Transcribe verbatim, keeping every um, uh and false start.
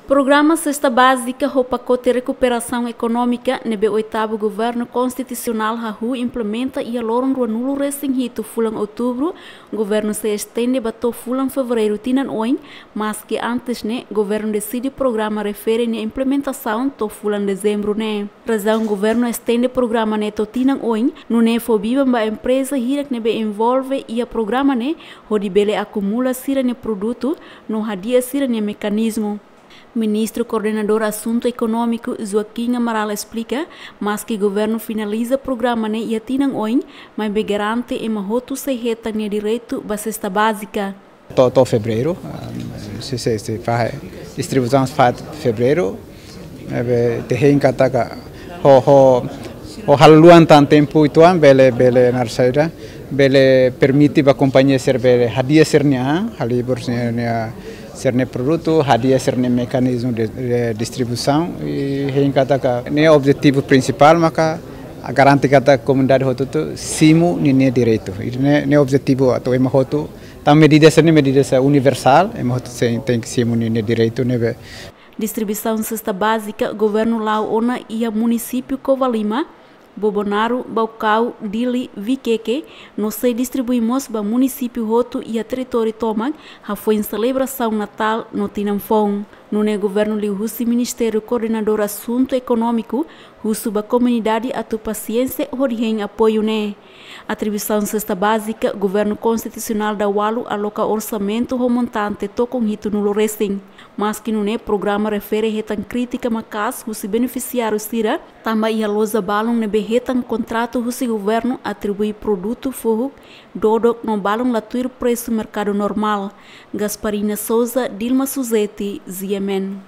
Programa Sesta Bázika ho pakote rekuperasaun ekonómika ne'ebé oitavu Governu Konstitusionál hahú implementa iha loron ruanulu resin hitu fulan Outubru, governu sei estende ba to'o fulan Fevereiru tinan oin, maski antes ne'e governu deside programa refere nia implementasaun to'o fulan Dezembru ne'e. Razaun governu estende programa ne'e to'o tinan oin, nune'e fó biban ba empreza hirak ne'ebé envolve iha programa ne'e, hodi bele akumula sira-nia produtu no hadi'a sira-nia mekanizmu. Ministru Koordenadór Asuntu Ekonómiku, Joaquim Amaral, esplika, maski governu finaliza programa ne'e iha tinan oin, maibé garante ema hotu sei hetan nia direitu ba sesta bázika. To'o, to'o Fevereiru, ah, sei, sei, sei fahe, distribuisaun fahe Fevereiru, ne'ebé ita hein katak ho, ho, ho halo luan tan tempu uitoan bele, bele naran saida, bele permite ba kompañia sira bele hadi'a sira-nia, halibur sira-nia, sira-nia produtu, hadi'a sira-nia mekanizmu de, de distribuisaun, i hein katak ne'e objetivu prinsipál maka garante katak komunidade hotu-hotu simu ninia direitu. I ne'e, ne'e objetivu atu ema hotu, tanba medida sira-ne'e medida sira universál, ema hotu sei tenke simu ninia direitu ne'ebé. Distribuisaun sesta bázika governu la'o ona iha munisípiu Covalima, Bobonaro, Baucau, Dili, Viqueque, no sei distribui mós ba munisípiu hotu iha territóriu tomak, hafoin selebrasaun Natál no Tinan Foun. Nune'e governu liuhusi Ministériu Koordenadór Asuntu Ekonómiku husu ba komunidade atu pasiénsia hodi hein apoiu ne'e. Atribuisaun sesta bázika, governu konstitusionál daualu aloka orsamentu ho montante tokon hitunulu resin. Maski nune'e programa refere hetan krítika maka'as husi benefisiáriu sira, tanba iha loja balun ne'ebé hetan kontratu husi governu atribui produtu fohuk dodok no balun la tuir presu merkadu normál. Gasparina Souza, Dilma Suzeti, G M N.